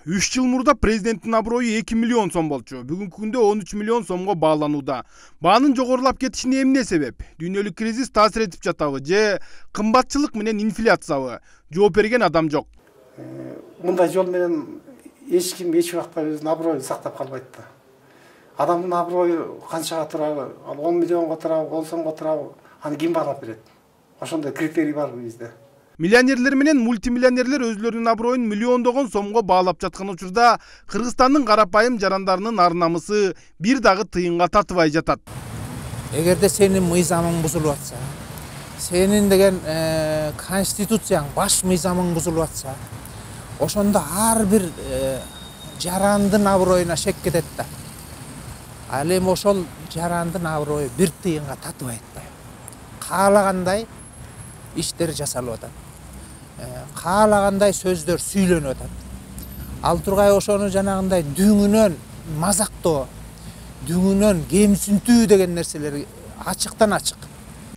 3 жыл мурда президенттин аброю 2 миллион сом болчу. Бүгүнкү күндө 13 миллион сомго бааланууда. Баанын жогорулап кетишине эмне себеп? Дүйнөлүк кризис таасир этип жатабы же кымбатчылык менен инфляциябы? Жооп берген адам жок. Мындай жол менен эч ким эч убакта өзүнүн аброюн сактап калбайт да. Адамдын аброю канчага турабы? Ал 10 миллионго турабы, 10 сомго турабы? Аны ким баалап берет? Ошондой критерий барбы бизде? Миллионерлер менен мультимиллионерлер өзлөрүнүн аброюн миллиондогон сомго баалап жаткан учурда Кыргызстандын карапайым жарандарынын ар намысы бир дагы тыйынга татыбай жатат. Эгерде сенин мыйзамың бузулуп атса, сенин деген конституцияң, баш мыйзамың бузулуп атса, ошондо ар бир жарандын аброюна шек кетет да. Ал эми ошол жарандын аброю бир тыйынга татыбайт да. Каалагандай иштер жасалып атат. Каалагандай сөздөр сүйлөнүп атат. Ал тургай ошону жанагындай дүңүнөн мазактоо, дүңүнөн кемсинтүү деген нерселер ачыктан ачык.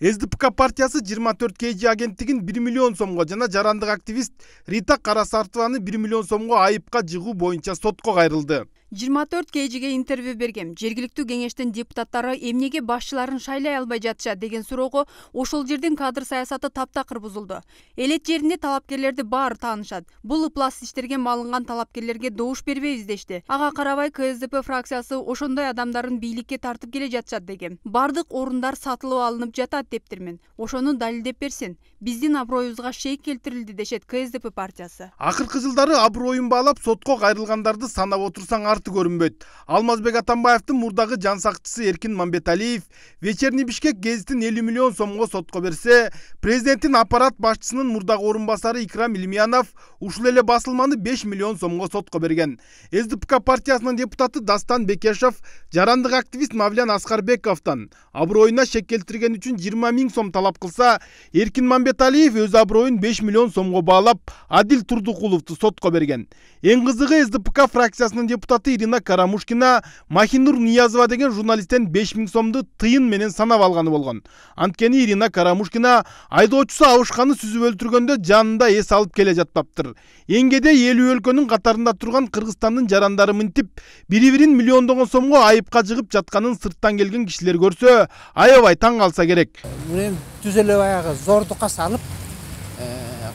СДПК партиясы 24 КЖ агенттигин 1 миллион сомго жана жарандык активист Рита Карасартованы 1 миллион сомго айыпка жыгуу боюнча сотко кайрылды. 24 КЖге интервью бергем. Жергиликтүү кеңештин депутаттары эмнеге башчыларын шайлай албай жатышат деген суроого ошол жердин кадр саясаты таптакыр бузулду. Элет жеринде талапкерлерди баары таанышат. Бул ыплас иштерге малынган талапкерлерге добуш бербейбиз дешти. Ага карабай КСДП фракциясы ошондой адамдарын бийликке тартып келе жатышат деген. Бардык орундар сатылып алынып жатат дептирмин. Ошону далилдеп берсин. Биздин аброюбузга шейк келтирилди дешет КСДП партиясы. Акыркы жылдары аброюн баалап сотко кайрылгандарды санап отурсаң арты көрүнбөйт. Алмазбек Атамбаевдин мурдагы жан сакчысы Эркин Мамбеталиев Вечерний Бишкек гезитин 50 миллион сомго сотко берсе, президенттин аппарат башчысынын мурдагы орун басары Икрам Илимянов ушул эле басылманы 5 миллион сомго сотко берген. СДПК партиясынын депутаты Дастан Бекешев жарандык активист Мавлян Аскарбековдон аброюна шек келтирген үчүн 20 000 сом талап кылса, Эркин Мамбеталиев өз аброюн 5 миллион сомго баалап Адил Турдукуловду сотко берген. Эң кызыгы СДПК фракциясынын депутаты Ирина Карамушкина Махинур Ниязова деген журналисттен 5 000 сомду тыйын менен санап алганы болгон. Анткени Ирина Карамушкина айдоочусу абышканы сүзүп өлтүргөндө жанында эс алып келе жатпаптыр. Эң кеде 50 өлкөнүн катарында турган Кыргызстандын жарандары мынтип бири-бирин миллиондогон сомго айыпка жыгып жатканын сырттан келген кишилер көрсө, аябай таң калса керек. Муну түз эле баягы зордукка салып,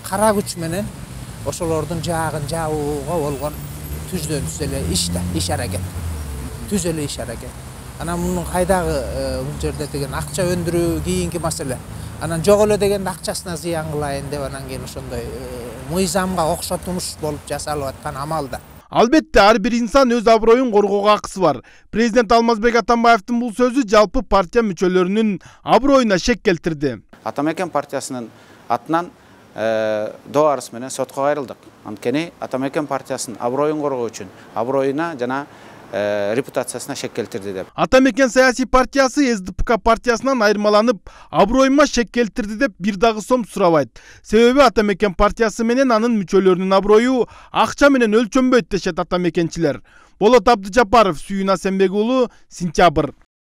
кара күч менен ошолордун жаагын жабууга болгон түздөн түз эле иш аракет. Түз эле иш аракет. Анан мунун кайдагы бул жерде деген акча өндүрүү кийинки маселе. Анан жок эле деген акчасына зыян кылайын деп анан кийин ошондой мыйзамга окшотулуш болуп жасалып аткан амал да. Албетте, ар бир инсан өз аброюн коргоого акысы бар. Президент Алмазбек Атамбаевдин бул сөзү жалпы партия мүчөлөрүнүн аброюна шек келтирди. Атамекен партиясынын атынан доо арыз менен сотко кайрылдык. Анткени Атамекен партиясынын аброюн коргоо үчүн аброюна жана репутациясына шек келтирди деп. Атамекен саясий партиясы СДПК партиясынан айырмаланып, аброюма шек келтирди деп бир дагы сом сурабайт. Себеби Атамекен партиясы менен анын мүчөлөрүнүн аброю акча менен өлчөнбөйт дешет атамекенчилер. Болот Абдыжапаров, Сүйүн Асенбек уулу, Сентябрь.